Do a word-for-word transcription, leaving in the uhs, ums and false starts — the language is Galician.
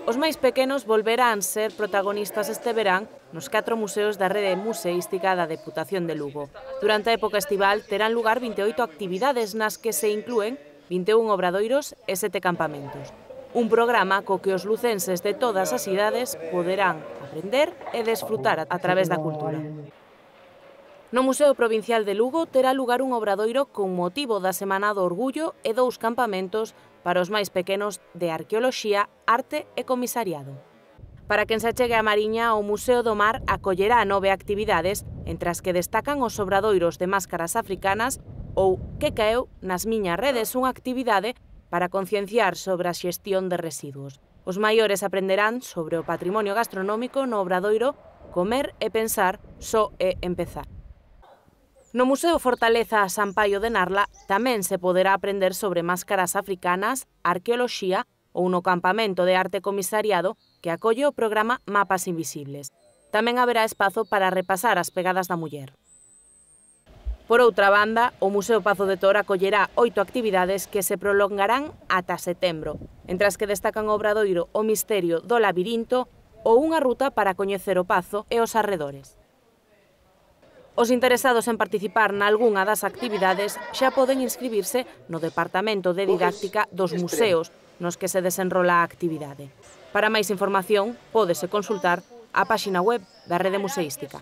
Os máis pequenos volverán ser protagonistas este verán nos catro museos da rede museística da Deputación de Lugo. Durante a época estival terán lugar vinte e oito actividades nas que se inclúen vinte e un obradoiros e sete campamentos. Un programa co que os lucenses de todas as idades poderán aprender e desfrutar a través da cultura. No Museo Provincial de Lugo terá lugar un obradoiro con motivo da Semana do Orgullo e dous campamentos para os máis pequenos de arqueoloxía, arte e comisariado. Para quen se achegue a Mariña, o Museo do Mar acollerá nove actividades, entre as que destacan os obradoiros de máscaras africanas ou Que caeu nas miñas redes, unha actividade para concienciar sobre a xestión de residuos. Os maiores aprenderán sobre o patrimonio gastronómico no obradoiro Comer e pensar só é empezar. No Museo Fortaleza Sampaio de Narla tamén se poderá aprender sobre máscaras africanas, arqueoloxía ou no campamento de arte comisariado que acolle o programa Mapas Invisibles. Tamén haberá espazo para repasar as pegadas da muller. Por outra banda, o Museo Pazo de Tor acollerá oito actividades que se prolongarán ata setembro, entre as que destacan o obradoiro O Misterio do Labirinto ou unha ruta para coñecer o Pazo e os arredores. Os interesados en participar nalgunha das actividades xa poden inscribirse no Departamento de Didáctica dos Museos, nos que se desenrola a actividade. Para máis información, pódese consultar a páxina web da Rede Museística.